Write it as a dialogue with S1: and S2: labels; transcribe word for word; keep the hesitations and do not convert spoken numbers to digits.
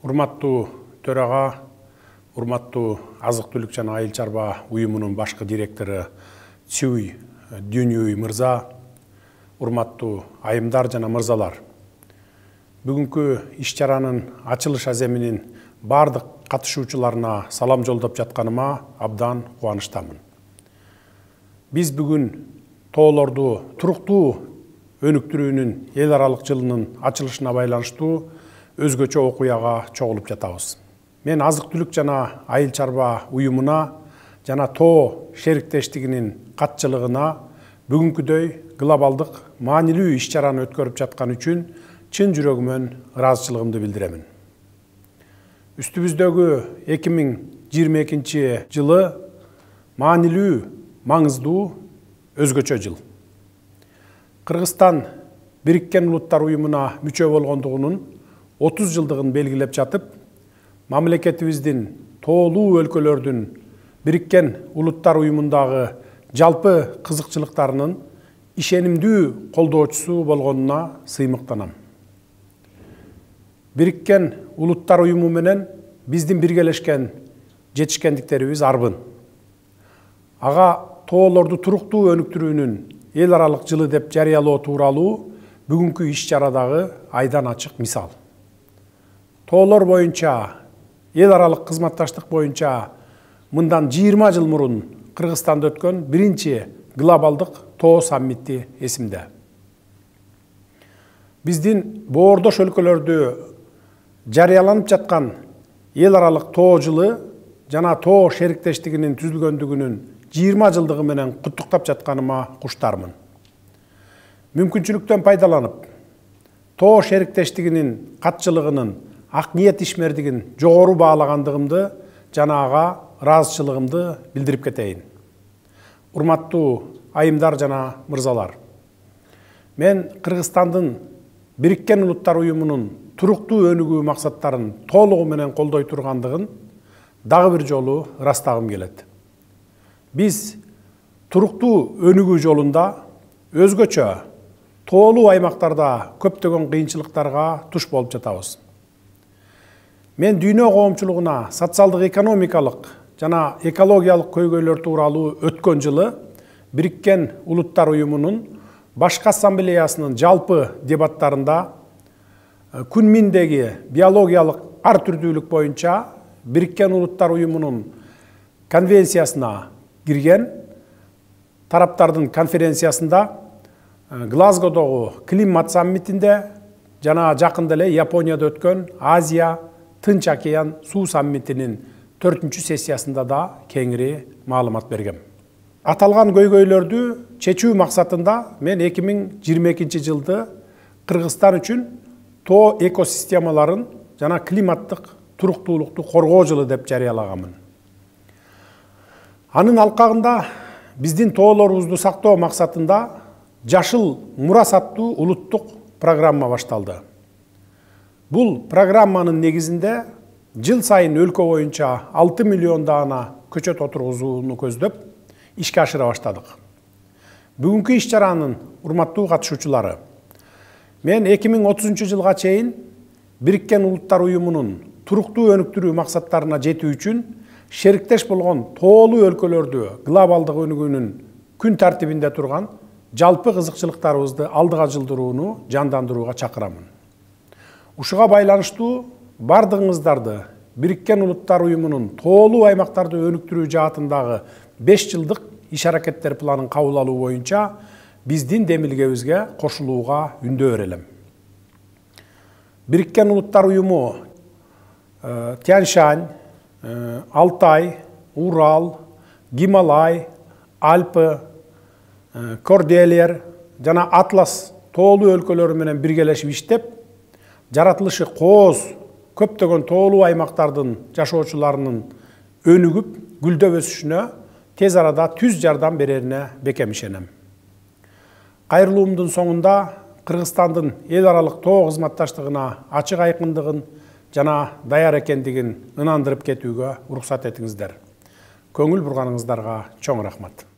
S1: Урматтуу төрага, урматтуу азык-түлүк жана айыл чарба уюмунун башкы директору Цюй Дюнюй мырза, урматтуу айымдар жана мырзалар. Бүгүнкү иш-чаранын ачылыш аземинин бардык катышуучуларына салам жолдоп жатканыма абдан кубанычтамын. Биз бүгүн тоолорду туруктуу өнүктүрүүнүн эл аралык жылынын ачылышына байланыштуу өзгөчө окуяга чогулуп жатабыз. Мен азык-түлүк жана айыл чарба уюмуна жана тоо шериктештигинин катчылыгына бүгүнкүдөй глобалдык маанилүү иш-чараны өткөрүп жаткан үчүн чын жүрөгүмөн ыраазычылыгымды билдиремин. Үстүбүздөгү эки миң жыйырма экинчи жылы маанилүү, маңыздуу, өзгөчө жыл. Кыргызстан Бириккен Улуттар уюмуна мүчө болгондугунун отуз жылдыгын белгилеп жатып, мамлекетибиздин тоолуу өлкөлөрдүн Бириккен Улуттар уюмундагы жалпы кызыкчылыктарынын ишенимдүү колдоочусу болгонуна сыймыктанам. Бириккен Улуттар уюму менен биздин биргелешкен жетишкендиктерибиз арбын. Ага тоолорду туруктуу өнүктүрүүнүн эл аралык жылы деп жарыялоо тууралуу бүгүнкү иш-чарадагы айдан ачык мисал. Тоолор боюнча, эл аралык кызматташтык боюнча мындан жыйырма жыл мурун Кыргызстанда өткөн биринчи глобалдык тоо саммити эсимде. Биздин боордош өлкөлөрдү жарыяланып жаткан эл аралык тоо жылы жана тоо шериктештигинин түзүлгөндүгүнүн жыйырма жылдыгы менен куттуктап жатканыма куштармын. Мүмкүнчүлүктөн пайдаланып, тоо шериктештигинин катчылыгынын ак ниет ишмердигин жогору баалагандыгымды жана ага ыраазычылыгымды билдирип кетейин. Урматтуу айымдар жана мырзалар, мен Кыргызстандын Бириккен Улуттар уюмунун туруктуу өнүгүү максаттарын толугу менен колдой тургандыгын дагы бир жолу ырастагым келет. Биз туруктуу өнүгүү жолунда өзгөчө тоолуу аймактарда көптөгөн кыйынчылыктарга туш болуп жатабыз. Мен дүйнө коомчулугуна социалдык экономикалык жана экологиялык көйгөйлөр тууралуу өткөн жылы Бириккен Улуттар уюмунун башкы ассамблеясынын жалпы дебаттарында Күнминдеги биологиялык ар түрдүүлүк боюнча Бириккен Улуттар уюмунун конвенциясына кирген тараптардын конференциясында, Глазгодогу климат саммитинде жана жакында эле Японияда өткөн Азия Тынч океан суу саммитинин төртүнчү сессиясында да кеңири маалымат бергем. Аталган көйгөйлөрдү чечүү максатында мен эки миң жыйырма экинчи жылды Кыргызстан үчүн тоо экосистемаларын жана климаттык туруктуулукту коргоо жылы деп жарыялаганмын. Анын алкагында биздин тоолорубузду сактоо максатында Жашыл мурас аттуу улуттук программа башталды. Бул программанын негизинде жыл сайын өлкө боюнча алты миллион даана көчөт отургузууну көздөп ишке ашыра баштадык. Бүгүнкү иш-чаранын урматтуу катышуучулары, мен эки миң отузунчу жылга чейин Бириккен Улуттар уюмунун туруктуу өнүктүрүү максаттарына жетүү үчүн шериктеш болгон тоолуу өлкөлөрдү глобалдык өнүгүүнүн күн тартибинде турган жалпы кызыкчылыктарыбызды алдыга жылдырууну жандандырууга чакырамын. Ушуга байланыштуу бардыгыңыздарды Бириккен Улуттар уюмунун тоолуу аймактарды өнүктүрүү жаатындагы беш жылдык иш-аракеттер планын кабыл алуу боюнча биздин демилгебизге кошулууга үндөө берелим. Бириккен Улуттар уюму Тянь-Шань, Алтай, Урал, Гималай, Альпы, Корделер жана Атлас тоолуу өлкөлөрү менен биргелешип иштеп, жаратылышы кооз көптөгөн тоолуу аймактардын жашоочуларынын өнүгүп, гүлдөп өсүшүнө тез арада түз жардам берерине бекем ишенем. Кайрылуумдун соңунда Кыргызстандын эл аралык тоо кызматташтыгына ачык айкындыгын жана даяр экендигин ынандырып кетүүгө уруксат этиңиздер. Көңүл бурганыңыздарга чоң рахмат.